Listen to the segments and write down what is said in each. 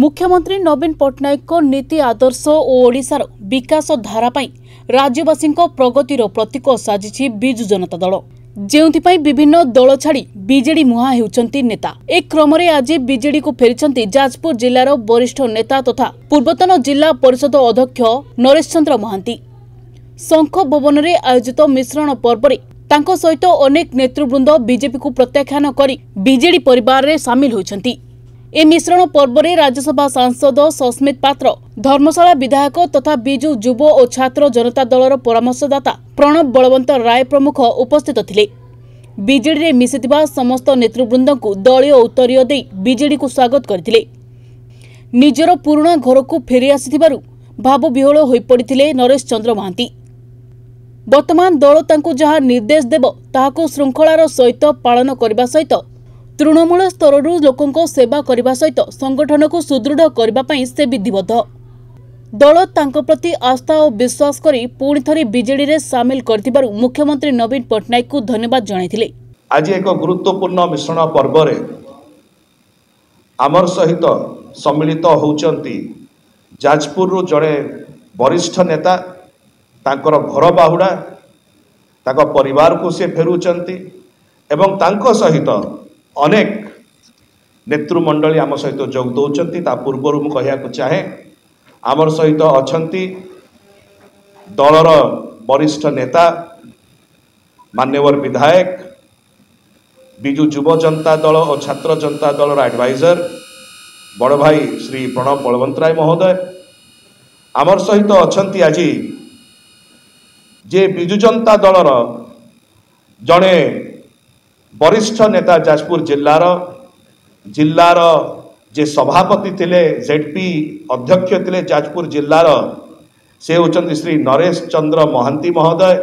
ମୁଖ୍ୟମନ୍ତ୍ରୀ ନବୀନ ପଟ୍ଟନାୟକଙ୍କ ନୀତି ଆଦର୍ଶ ଓ ଓଡ଼ିଶାର ବିକାଶ ଧାରା ପାଇଁ ରାଜ୍ୟବାସୀଙ୍କ ପ୍ରଗତିର ପ୍ରତୀକ ସାଜିଛି ବିଜୁ ଜନତା ଦଳ, ଯେଉଁଥିପାଇଁ ବିଭିନ୍ନ ଦଳ ଛାଡ଼ି ବିଜେଡି ମୁହାଁ ହେଉଛନ୍ତି ନେତା। ଏ କ୍ରମରେ ଆଜି ବିଜେଡିକୁ ଫେରିଛନ୍ତି ଯାଜପୁର ଜିଲ୍ଲାର ବରିଷ୍ଠ ନେତା ତଥା ପୂର୍ବତନ ଜିଲ୍ଲା ପରିଷଦ ଅଧ୍ୟକ୍ଷ ନରେଶ ଚନ୍ଦ୍ର ମହାନ୍ତି। ଶଙ୍ଖ ଭବନରେ ଆୟୋଜିତ ମିଶ୍ରଣ ପର୍ବରେ ତାଙ୍କ ସହିତ ଅନେକ ନେତୃବୃନ୍ଦ ବିଜେପିକୁ ପ୍ରତ୍ୟାଖ୍ୟାନ କରି ବିଜେଡି ପରିବାରରେ ସାମିଲ ହୋଇଛନ୍ତି। ଏ ମିଶ୍ରଣ ପର୍ବରେ ରାଜ୍ୟସଭା ସାଂସଦ ସସ୍ମିତ ପାତ୍ର, ଧର୍ମଶାଳା ବିଧାୟକ ତଥା ବିଜୁ ଯୁବ ଓ ଛାତ୍ର ଜନତା ଦଳର ପରାମର୍ଶଦାତା ପ୍ରଣବ ବଳବନ୍ତ ରାୟ ପ୍ରମୁଖ ଉପସ୍ଥିତ ଥିଲେ। ବିଜେଡିରେ ମିଶିଥିବା ସମସ୍ତ ନେତୃବୃନ୍ଦଙ୍କୁ ଦଳୀୟ ଉତ୍ତରୀୟ ଦେଇ ବିଜେଡିକୁ ସ୍ୱାଗତ କରିଥିଲେ। ନିଜର ପୁରୁଣା ଘରକୁ ଫେରି ଆସିଥିବାରୁ ଭାବବିହ୍ୱଳ ହୋଇପଡ଼ିଥିଲେ ନରେଶ ଚନ୍ଦ୍ର ମହାନ୍ତି। ବର୍ତ୍ତମାନ ଦଳ ତାଙ୍କୁ ଯାହା ନିର୍ଦ୍ଦେଶ ଦେବ ତାହାକୁ ଶୃଙ୍ଖଳାର ସହିତ ପାଳନ କରିବା ସହିତ ତୃଣମୂଳ ସ୍ତରରୁ ଲୋକଙ୍କ ସେବା କରିବା ସହିତ ସଂଗଠନକୁ ସୁଦୃଢ଼ କରିବା ପାଇଁ ସେ ବିଧିବଦ୍ଧ। ଦଳ ତାଙ୍କ ପ୍ରତି ଆସ୍ଥା ଓ ବିଶ୍ୱାସ କରି ପୁଣି ଥରେ ବିଜେଡିରେ ସାମିଲ କରିଥିବାରୁ ମୁଖ୍ୟମନ୍ତ୍ରୀ ନବୀନ ପଟ୍ଟନାୟକଙ୍କୁ ଧନ୍ୟବାଦ ଜଣାଇଥିଲେ। ଆଜି ଏକ ଗୁରୁତ୍ୱପୂର୍ଣ୍ଣ ମିଶ୍ରଣ ପର୍ବରେ ଆମର ସହିତ ସମ୍ମିଳିତ ହେଉଛନ୍ତି ଯାଜପୁରରୁ ଜଣେ ବରିଷ୍ଠ ନେତା। ତାଙ୍କର ଘର ବାହୁଡ଼ା, ତାଙ୍କ ପରିବାରକୁ ସେ ଫେରୁଛନ୍ତି ଏବଂ ତାଙ୍କ ସହିତ ଅନେକ ନେତୃମଣ୍ଡଳୀ ଆମ ସହିତ ଯୋଗ ଦେଉଛନ୍ତି। ତା ପୂର୍ବରୁ ମୁଁ କହିବାକୁ ଚାହେଁ, ଆମର ସହିତ ଅଛନ୍ତି ଦଳର ବରିଷ୍ଠ ନେତା, ମାନ୍ୟବର ବିଧାୟକ, ବିଜୁ ଯୁବ ଜନତା ଦଳ ଓ ଛାତ୍ର ଜନତା ଦଳର ଆଡଭାଇଜର ବଡ଼ ଭାଇ ଶ୍ରୀ ପ୍ରଣବ ବଳବନ୍ତରାୟ ମହୋଦୟ। ଆମର ସହିତ ଅଛନ୍ତି ଆଜି ଯେ ବିଜୁ ଜନତା ଦଳର ଜଣେ ବରିଷ୍ଠ ନେତା, ଯାଜପୁର ଜିଲ୍ଲାର ଯେ ସଭାପତି ଥିଲେ, ଜେଡପି ଅଧ୍ୟକ୍ଷ ଥିଲେ ଯାଜପୁର ଜିଲ୍ଲାର, ସେ ହେଉଛନ୍ତି ଶ୍ରୀ ନରେଶ ଚନ୍ଦ୍ର ମହାନ୍ତି ମହୋଦୟ।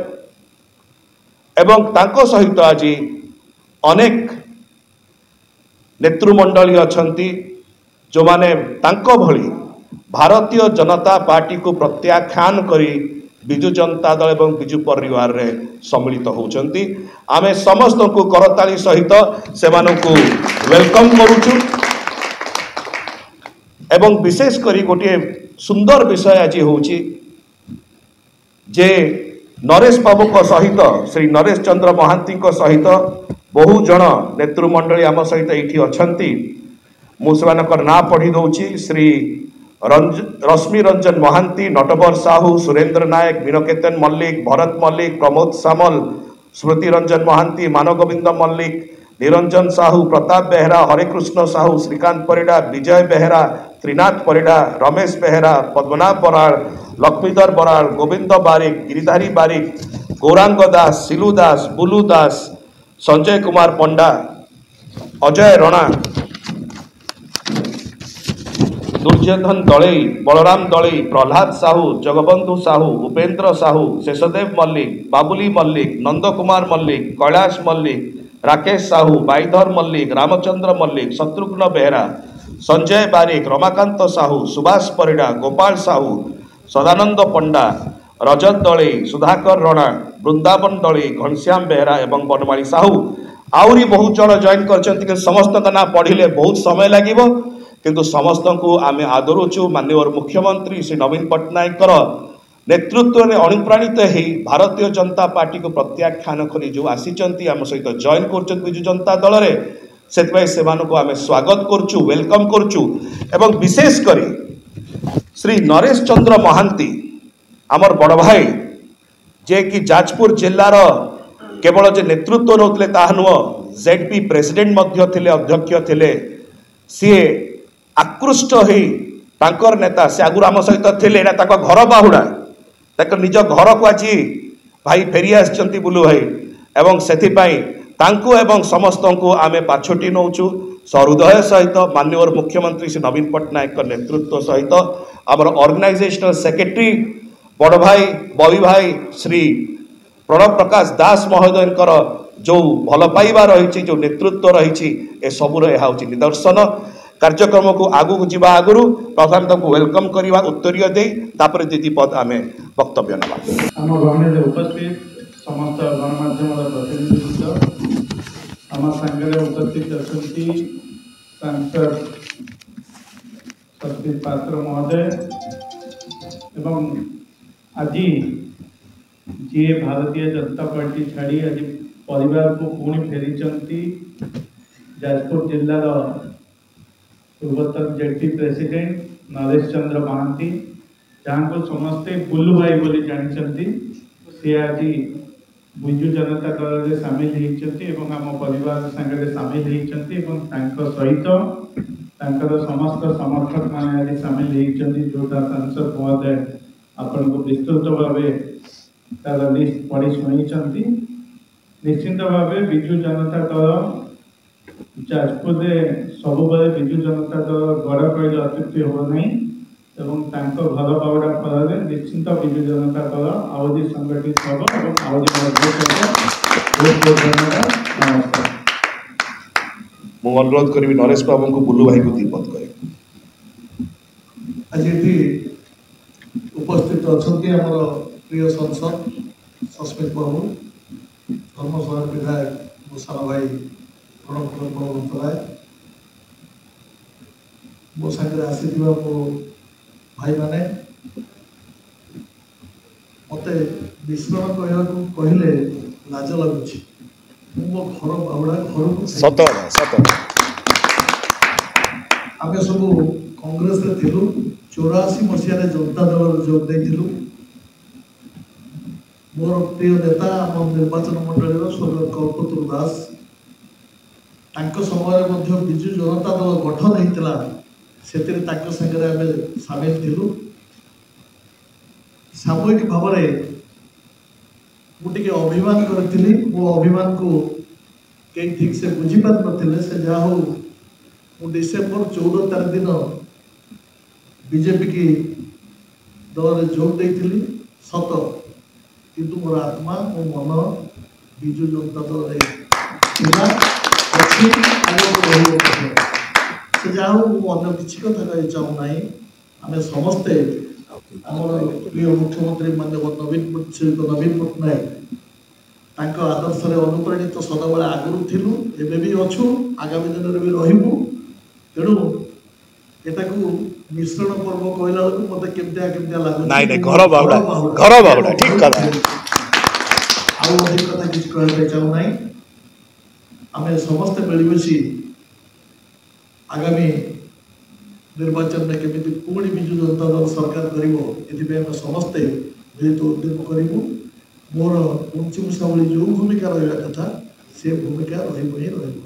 ଏବଂ ତାଙ୍କ ସହିତ ଆଜି ଅନେକ ନେତୃମଣ୍ଡଳୀ ଅଛନ୍ତି, ଯେଉଁମାନେ ତାଙ୍କ ଭଳି ଭାରତୀୟ ଜନତା ପାର୍ଟିକୁ ପ୍ରତ୍ୟାଖ୍ୟାନ କରି ବିଜୁ ଜନତା ଦଳ ଏବଂ ବିଜୁ ପରିବାରରେ ସମ୍ମିଳିତ ହେଉଛନ୍ତି। ଆମେ ସମସ୍ତଙ୍କୁ କରତାଳି ସହିତ ସେମାନଙ୍କୁ welcome କରୁଛୁ। ଏବଂ ବିଶେଷ କରି ଗୋଟିଏ ସୁନ୍ଦର ବିଷୟ ଆଜି ହେଉଛି ଯେ ନରେଶ ବାବୁଙ୍କ ସହିତ, ଶ୍ରୀ ନରେଶ ଚନ୍ଦ୍ର ମହାନ୍ତିଙ୍କ ସହିତ ବହୁ ଜଣ ନେତୃମଣ୍ଡଳୀ ଆମ ସହିତ ଏଇଠି ଅଛନ୍ତି। ମୁଁ ସେମାନଙ୍କର ନାଁ ପଢ଼ି ଦେଉଛି। ଶ୍ରୀ ରଶ୍ମି ରଞ୍ଜନ ମହାନ୍ତି, ନଟବର ସାହୁ, ସୁରେନ୍ଦ୍ର ନାୟକ, ମୀନକେତନ ମଲ୍ଲିକ, ଭରତ ମଲ୍ଲିକ, ପ୍ରମୋଦ ସାମଲ, ସ୍ମୃତି ରଞ୍ଜନ ମହାନ୍ତି, ମାନଗୋବିନ୍ଦ ମଲ୍ଲିକ, ନିରଞ୍ଜନ ସାହୁ, ପ୍ରତାପ ବେହେରା, ହରେକୃଷ୍ଣ ସାହୁ, ଶ୍ରୀକାନ୍ତ ପରିଡ଼ା, ବିଜୟ ବେହେରା, ତ୍ରିନାଥ ପରିଡ଼ା, ରମେଶ ବେହେରା, ପଦ୍ମନାଭ ବରାଳ, ଲକ୍ଷ୍ମୀଧର ବରାଳ, ଗୋବିନ୍ଦ ବାରିକ, ଗିରିଧାରୀ ବାରିକ, ଗୌରାଙ୍ଗ ଦାସ, ସିଲୁ ଦାସ, ବୁଲୁ ଦାସ, ସଞ୍ଜୟ କୁମାର ପଣ୍ଡା, ଅଜୟ ରଣା, ଦୁର୍ଯ୍ୟୋଧନ ଦଳେଇ, ବଳରାମ ଦଳେଇ, ପ୍ରହ୍ଲାଦ ସାହୁ, ଜଗବନ୍ଧୁ ସାହୁ, ଉପେନ୍ଦ୍ର ସାହୁ, ଶେଷଦେବ ମଲ୍ଲିକ, ବାବୁଲି ମଲ୍ଲିକ, ନନ୍ଦ କୁମାର ମଲ୍ଲିକ, କୈଳାସ ମଲ୍ଲିକ, ରାକେଶ ସାହୁ, ବାଇଧର ମଲ୍ଲିକ, ରାମଚନ୍ଦ୍ର ମଲ୍ଲିକ, ଶତ୍ରୁଘ୍ନ ବେହେରା, ସଞ୍ଜୟ ବାରିକ, ରମାକାନ୍ତ ସାହୁ, ସୁଭାଷ ପରିଡ଼ା, ଗୋପାଳ ସାହୁ, ସଦାନନ୍ଦ ପଣ୍ଡା, ରଜତ ଦଳେଇ, ସୁଧାକର ରଣା, ବୃନ୍ଦାବନ ଦଳେଇ, ଘନଶ୍ୟାମ ବେହେରା ଏବଂ ବନମାଳୀ ସାହୁ। ଆହୁରି ବହୁତ ଜଣ ଜଏନ୍ କରିଛନ୍ତି, କିନ୍ତୁ ସମସ୍ତଙ୍କ ନାଁ ପଢ଼ିଲେ ବହୁତ ସମୟ ଲାଗିବ। କିନ୍ତୁ ସମସ୍ତଙ୍କୁ ଆମେ ଆଦରୁଛୁ। ମାନ୍ୟବର ମୁଖ୍ୟମନ୍ତ୍ରୀ ଶ୍ରୀ ନବୀନ ପଟ୍ଟନାୟକଙ୍କର ନେତୃତ୍ୱରେ ଅନୁପ୍ରାଣିତ ହେଇ ଭାରତୀୟ ଜନତା ପାର୍ଟିକୁ ପ୍ରତ୍ୟାଖ୍ୟାନ କରି ଯେଉଁ ଆସିଛନ୍ତି, ଆମ ସହିତ ଜଏନ୍ କରୁଛନ୍ତି ବିଜୁ ଜନତା ଦଳରେ, ସେଥିପାଇଁ ସେମାନଙ୍କୁ ଆମେ ସ୍ୱାଗତ କରୁଛୁ, welcome କରୁଛୁ। ଏବଂ ବିଶେଷ କରି ଶ୍ରୀ ନରେଶ ଚନ୍ଦ୍ର ମହାନ୍ତି, ଆମର ବଡ଼ ଭାଇ, ଯିଏକି ଯାଜପୁର ଜିଲ୍ଲାର କେବଳ ଯେ ନେତୃତ୍ୱ ନେଉଥିଲେ ତାହା ନୁହଁ, ଜେଡ୍ ପି ପ୍ରେସିଡେଣ୍ଟ ମଧ୍ୟ ଥିଲେ, ଅଧ୍ୟକ୍ଷ ଥିଲେ। ସିଏ ଆକୃଷ୍ଟ ହେଇ ତାଙ୍କର ନେତା, ସେ ଆଗରୁ ଆମ ସହିତ ଥିଲେ, ଏଇଟା ତାଙ୍କ ଘର ବାହୁଡ଼ା, ତାଙ୍କ ନିଜ ଘରକୁ ଆଜି ଭାଇ ଫେରି ଆସିଛନ୍ତି ବୁଲୁ ଭାଇ। ଏବଂ ସେଥିପାଇଁ ତାଙ୍କୁ ଏବଂ ସମସ୍ତଙ୍କୁ ଆମେ ପାଛୋଟି ନେଉଛୁ ସହୃଦୟ ସହିତ, ମାନ୍ୟବର ମୁଖ୍ୟମନ୍ତ୍ରୀ ଶ୍ରୀ ନବୀନ ପଟ୍ଟନାୟକଙ୍କ ନେତୃତ୍ୱ ସହିତ। ଆମର ଅର୍ଗାନାଇଜେସନାଲ ସେକ୍ରେଟାରୀ ବଡ଼ ଭାଇ ବବି ଭାଇ ଶ୍ରୀ ପ୍ରଣବ ପ୍ରକାଶ ଦାସ ମହୋଦୟଙ୍କର ଯେଉଁ ଭଲ ପାଇବା ରହିଛି, ଯେଉଁ ନେତୃତ୍ୱ ରହିଛି, ଏସବୁର ଏହା ହେଉଛି ନିଦର୍ଶନ। କାର୍ଯ୍ୟକ୍ରମକୁ ଆଗକୁ ଯିବା ଆଗରୁ ପ୍ରଥମେ ତାଙ୍କୁ welcome କରିବା ଉତ୍ତରୀୟ ଦେଇ, ତାପରେ ଦିଦି ପଦ ଆମେ ବକ୍ତବ୍ୟ ନେବା। ଆମ ଗହଣରେ ଉପସ୍ଥିତ ସମସ୍ତ ଗଣମାଧ୍ୟମର ପ୍ରତିନିଧିବୃନ୍ଦ, ଆମ ସାଙ୍ଗରେ ଉପସ୍ଥିତ ଅଛନ୍ତି ସାଂସଦ ସସ୍ମିତ ପାତ୍ର ମହୋଦୟ ଏବଂ ଆଜି ଯିଏ ଭାରତୀୟ ଜନତା ପାର୍ଟି ଛାଡ଼ି ଆଜି ପରିବାରକୁ ପୁଣି ଫେରିଛନ୍ତି, ଯାଜପୁର ଜିଲ୍ଲାର ପୂର୍ବତନ ଜେଡପି ପ୍ରେସିଡେଣ୍ଟ ନରେଶ ଚନ୍ଦ୍ର ମହାନ୍ତି, ଯାହାଙ୍କୁ ସମସ୍ତେ ବୁଲୁ ଭାଇ ବୋଲି ଜାଣିଛନ୍ତି, ସେ ଆଜି ବିଜୁ ଜନତା ଦଳରେ ସାମିଲ ହେଇଛନ୍ତି ଏବଂ ଆମ ପରିବାର ସାଙ୍ଗରେ ସାମିଲ ହେଇଛନ୍ତି ଏବଂ ତାଙ୍କ ସହିତ ତାଙ୍କର ସମସ୍ତ ସମର୍ଥକମାନେ ଆଜି ସାମିଲ ହେଇଛନ୍ତି। ଯେଉଁଟା ସାଂସଦ ମହୋଦୟ ଆପଣଙ୍କୁ ବିସ୍ତୃତ ଭାବେ ତାର ଲିଷ୍ଟ ପଢ଼ି ଶୁଣେଇଛନ୍ତି। ନିଶ୍ଚିନ୍ତ ଭାବେ ବିଜୁ ଜନତା ଦଳ ଯାଜପୁରରେ ସବୁବେଳେ ବିଜୁ ଜନତା ଦଳ ଗଡ଼ କହିଲେ ଅତ୍ୟୁକ୍ତି ହେବ ନାହିଁ ଏବଂ ତାଙ୍କ ଘର ବାହୁଡ଼ା ଫଳରେ ନିଶ୍ଚିନ୍ତ ବିଜୁ ଜନତା ଦଳ ଆହୁରି ସଂଗଠିତ ହେବ ଏବଂ ଆହୁରି ମଜବୁତ ହେବ। ବହୁତ ବହୁତ ଧନ୍ୟବାଦ, ନମସ୍କାର। ମୁଁ ଅନୁରୋଧ କରିବି ନରେଶ ବାବୁଙ୍କୁ ବୁଲୁ ଭାଇଙ୍କୁ ଦ୍ୱିପଦ କହିବେ। ଆଜି ଏଠି ଉପସ୍ଥିତ ଅଛନ୍ତି ଆମର ପ୍ରିୟ ସାଂସଦ ସସ୍ମିତ ବାବୁ, ଧର୍ମଶାଳା ବିଧାୟକ ମୋ ସାନ ଭାଇ ପ୍ରଣବ ବଳବନ୍ତ ରାୟ, ମୋ ସାଙ୍ଗରେ ଆସିଥିବା ମୋ ଭାଇମାନେ। ମୋତେ ମିଶ୍ରଣ କହିବାକୁ କହିଲେ ଲାଜ ଲାଗୁଛି। ମୁଁ ମୋ ଘର ବାହୁଡ଼ା ଘରକୁ ସତ ସତ। ଆମେ ସବୁ କଂଗ୍ରେସରେ ଥିଲୁ, 84 ମସିହାରେ ଜନତା ଦଳରେ ଯୋଗ ଦେଇଥିଲୁ। ମୋର ପ୍ରିୟ ନେତା ଆମ ନିର୍ବାଚନ ମଣ୍ଡଳୀର ସ୍ୱର୍ଗତ କଳ୍ପତରୁ ଦାସ, ତାଙ୍କ ସମୟରେ ମଧ୍ୟ ବିଜୁ ଜନତା ଦଳ ଗଠନ ହେଇଥିଲା, ସେଥିରେ ତାଙ୍କ ସାଙ୍ଗରେ ଆମେ ସାମିଲ ଥିଲୁ। ସାମୟିକ ଭାବରେ ମୁଁ ଟିକେ ଅଭିମାନ କରିଥିଲି, ମୋ ଅଭିମାନକୁ କେହି ଠିକ୍ ସେ ବୁଝିପାରିନଥିଲେ। ସେ ଯାହା ହଉ, ମୁଁ ଡିସେମ୍ବର 14 ତାରିଖ ଦିନ ବିଜେପିକି ଦଳରେ ଯୋଗ ଦେଇଥିଲି ସତ, କିନ୍ତୁ ମୋର ଆତ୍ମା ମୋ ମନ ବିଜୁ ଜନତା ଦଳରେ ଥିଲା, ଅଛି, ଆଗକୁ ରହିବ ମଧ୍ୟ। ସେ ଯାହା ହଉ, ମୁଁ ଅନ୍ୟ କିଛି କଥା କହିବାକୁ ଚାହୁଁନାହିଁ। ଆମେ ସମସ୍ତେ ଆମର ପ୍ରିୟ ମୁଖ୍ୟମନ୍ତ୍ରୀ ମାନ୍ୟବର ନବୀନ ଶ୍ରୀଯୁକ୍ତ ନବୀନ ପଟ୍ଟନାୟକ ତାଙ୍କ ଆଦର୍ଶରେ ଅନୁପ୍ରାଣିତ ସଦାବେଳେ ଆଗରୁ ଥିଲୁ, ଏବେ ବି ଅଛୁ, ଆଗାମୀ ଦିନରେ ବି ରହିବୁ। ତେଣୁ ଏଟାକୁ ମିଶ୍ରଣ ପର୍ବ କହିଲା ବେଳକୁ ମତେ କେମିତିଆ କେମିତିଆ ଲାଗୁଛି। ନାଇଁ ନାଇଁ, ଘର ବାହୁଡ଼ା, ଘର ବାହୁଡ଼ା, ଠିକ କଥା। ଆଉ ଅଧିକ କଥା କିଛି କହିବା ପାଇଁ ଚାହୁଁନାହିଁ। ଆମେ ସମସ୍ତେ ମିଳିମିଶି ଆଗାମୀ ନିର୍ବାଚନରେ କେମିତି ପୁଣି ବିଜୁ ଜନତା ଦଳ ସରକାର କରିବ, ଏଥିପାଇଁ ଆମେ ସମସ୍ତେ ମିଳିତ ଉଦ୍ୟମ କରିବୁ। ମୋର ପୁଞ୍ଚି ମୂଷା ଭଳି ଯେଉଁ ଭୂମିକା ରହିବା କଥା ସେ ଭୂମିକା ରହିବ ହିଁ ରହିବ।